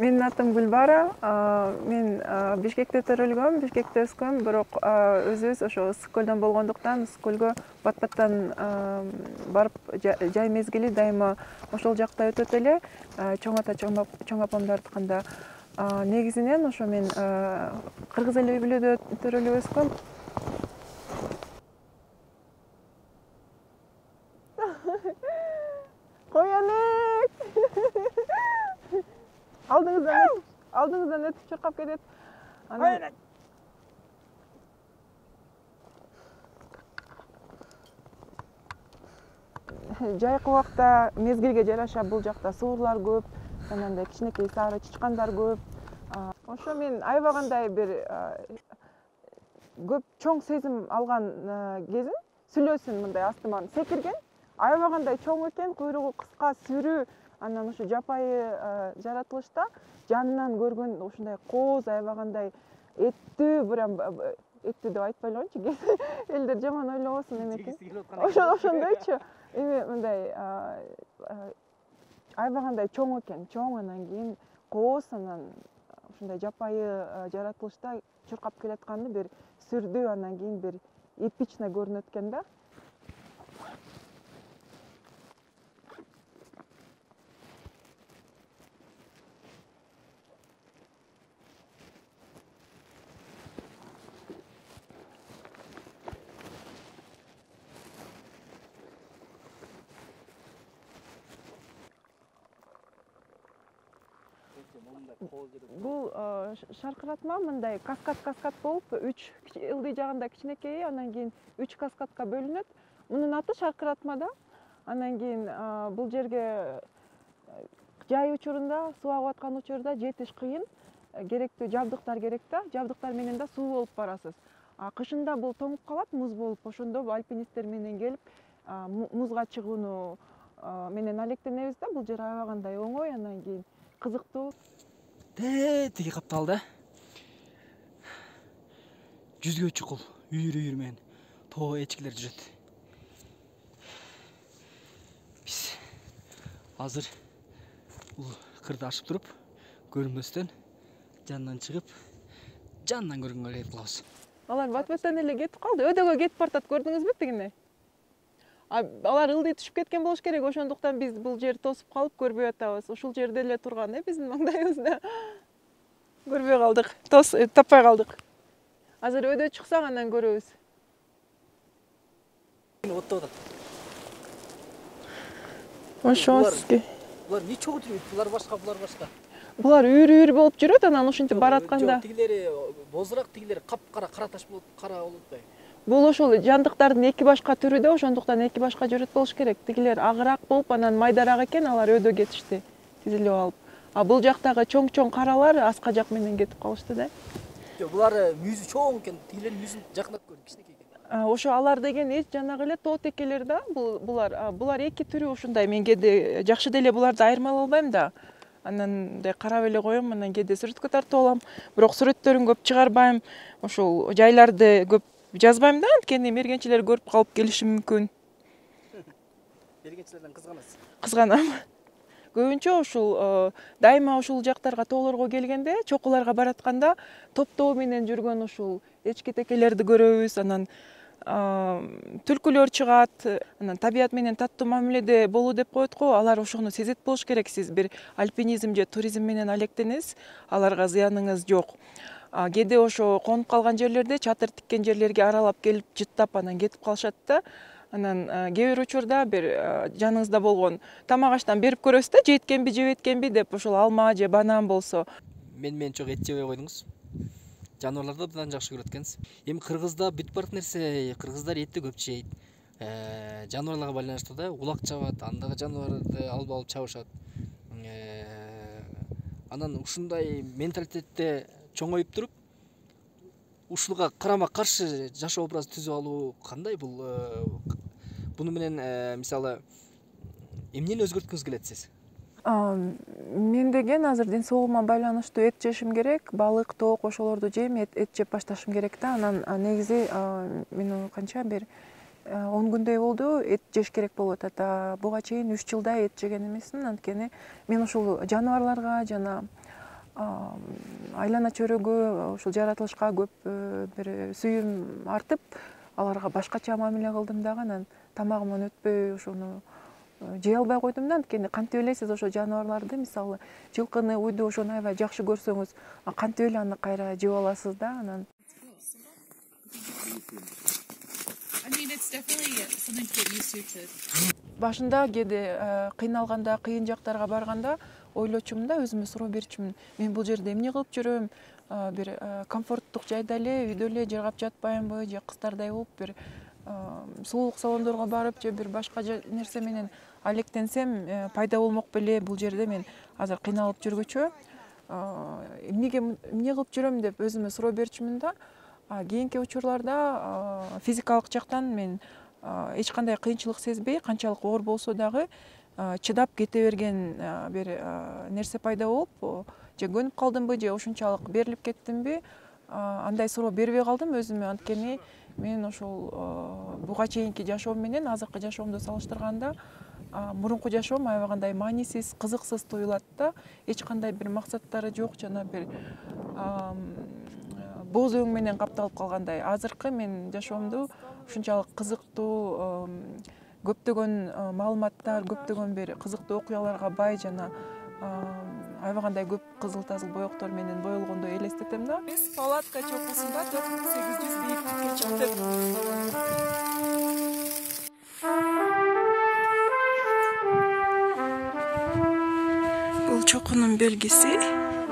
Менин атым Гүлбара. Мен Бишкекте төрөлгөм, Бишкекте өскөм, бирок өзүбүз ошо ысык көлдөн болгондуктан ысык көлгө бат-баттан барып жай мезгили дайыма ошол жакта өтөт эле. Чоң ата, чоң апамдардыкында. Негизинен ошо мен кыргыз эли үй бүлөдө төрөлүп өскөм. Коянек! Алдыңыздан өтүп чуркап кетет. Жайкы убакта мезгилге жараша бул жакта суурлар көп, анандай кичинекей сары чычкандар көп. Ошо мен аябагандай бир көп чоң сезим алган кезим сүлөөсүн мындай астыман секирген. Аябагандай чоң экен, куйругу кыска, сүрүү, анан ошо жапайы жаратылышта жанынан көргөн ушундай кооз аябагандай эттүү, прям эттүү деп айтпай эле коеюнчу, элдер жаман ойлобосун эметип. Ошондойчу. Эми мындай аябагандай чоң экен, чоң, анан кийин кооз, анан ушундай жапайы жаратылышта чуркап келатканы бир сүрдүү, анан кийин бир эпично көрүнөт экен да. Бул шаркыратма мындай каскад болуп, 3 ылдый жагында кичинекейи, анан кийин 3 каскадка бөлүнөт. Мунун аты шаркыратма да. Анан кийин бул жерге жай учурунда, суу агып аткан учурда жетиш кыйын, керектүү жабдыктар керек да. Жабдыктар менен да суу болуп барасыз. Кышында бул тоңуп калат, муз болуп. Ошондо альпинисттер менен келип, музга чыгууну менен алектенебиз да. Бул жер аябагандай оңой, анан кийин кызыктуу. Тиги капталда жүзгө чукул үйүр менен тоо эчкилер жүрөт. Биз азыр бул кырды ашып туруп, көрүнбөстөн жанынан чыгып, жанынан көргөнгө эле кылабыз. Алар бат-баттан эле кетип калды. Өдөгө кетип бартат, көрдүңүзбү тигине? Алар ылдый түшүп кеткен болуш керек, ошондуктан биз бул жерди тосуп калып көрбөй атабыз. Ушул жерде эле турган, биздин маңдайыбызда. Көрбөй калдык, таппай калдык. Азыр өдө чыксак анан көрөбүз. Оттоп атат. Ошо сизге. Булар не чогуу жүрөт? Булар башка. Булар үйүр болуп жүрөт, анан ушинтип баратканда. Тигилери бозураак, тигилери капкара, кара таш болот, кара болот да. Бул ошол жандыктардын эки башка түрү да, ошондуктан эки башка жүрөт болуш керек. Тигилер агыраак болуп, анан майдараак экен, алар өдө кетишти, тизилип алып. Бул жактагы чоң каралар аска жак менен кетип калышты да. Жок, булар мүйүзү чоң экен, тигилердин мүйүзүн жакынап көрдүм, кичинекей экен. Ошо алар деген жанагы эле тоо текелер да. Булар эки түрү ушундай. Мен кээде жакшы деле буларды айырмалай албайм да. Анан мындай карап эле коем, анан кээде сүрөткө тартып алам. Бирок сүрөттөрүн көп чыгарбайм. Ошол жайларды көп жазбайм да, анткени мергенчилер көрүп калып келиши мүмкүн. Мергенчилерден кызганасыз? Кызганам. Көбүнчө ушул дайыма ушул жактарга тоолорго келгенде, чокуларга баратканда топтоо менен жүргөн ушул эчки текелерди көрөбүз, анан түлкүлөр чыгат, анан табият менен таттуу мамиледе болуу деп коет го, алар ошону сезет болуш керек. Сиз бир альпинизм же туризм менен алектенесиз, аларга зыяныңыз жок. Кээде ошо конуп калган жерлерде, чатыр тиккен жерлерге аралап келип жыттап анан кетип калышат да. Анан кээ бир учурда бир жаныңызда болгон тамак аштан берип көрөсүз да, жеткенби, жебеткенби деп, ошол алма же банан болсо. Мен чок эт жебей койдуңуз. Жаныбарларды абдан жакшы көрөт экенсиз. Эми кыргызда бүтүп барат нерсе, кыргыздар этти көп жейт. Жаныбарларга байланыштуу да, улак чабат, андагы жаныбарды алып чабышат. Анан ушундай менталитетте чоңоюп туруп, ушуга карама каршы жашоо образы түзүп алуу кандай? Буну менен мисалы эмнени өзгөрткүңүз келет сиз? Мен деген азыр ден соолугума байланыштуу эт жешим керек, балык, тоок ошолорду жейм, эт жеп башташым керек да. Анан негизи мен канча бир 10 күндөй болду эт жеш керек болуп атат. Буга чейин 3 жылдай эт жеген эмесмин, анткени мен ушул жаныбарларга жана айлана чөйрөгө ушул жаратылышка көп бир сүйүүм артып, аларга башкача мамиле кылдым дагы. Анан тамагыман өтпөй ошону жей албай койдум да. Анткени кантип эле сиз ошо жаныбарларды, мисалы жылкыны, уйду ошону аябай жакшы көрсөңүз, кантип эле аны кайра жеп аласыз да. Анан башында кээде кыйналганда, кыйын жактарга барганда ойлочумун да, өзүмө суроо берчүмүн. Мен бул жерде эмне кылып жүрөм? Бир комфорттук жайда эле, үйдө эле жыргап жатпаймынбы, же кыздардай болуп бир сулуулук салондорго барып, же бир башка нерсе менен алектенсем пайда болмок беле бул жерде. Мен азыр кыйналып жүргүчө эмне кылып жүрөм деп өзүмө суроо берчүмүн да. Кийинки учурларда физикалык жактан мен эч кандай кыйынчылык сезбей, канчалык оор болсо дагы чыдап кете берген бир нерсе пайда болуп, же көнүп калдымбы, же ошунчалык берилип кеттимби, андай суроо бербей калдым өзүмө. Анткени мен ошол буга чейинки жашоом менен азыркы жашоомду салыштырганда мурунку жашоом аябай кандай маанисиз, кызыксыз туюлат да. Эч кандай бир максаттары жок, жана бир боз өң менен капталып калгандай. Азыркы мен жашоомду ушунчалык кызыктуу, көптөгөн маалыматтар, көптөгөн бир кызыктуу окуяларга бай, жана аябай кандай көп кызыл тазыл боектор менен боелгондой элестетем да. Биз палатка чокусунда 4800 бийиктикке чыктык. Бул чокунун белгиси.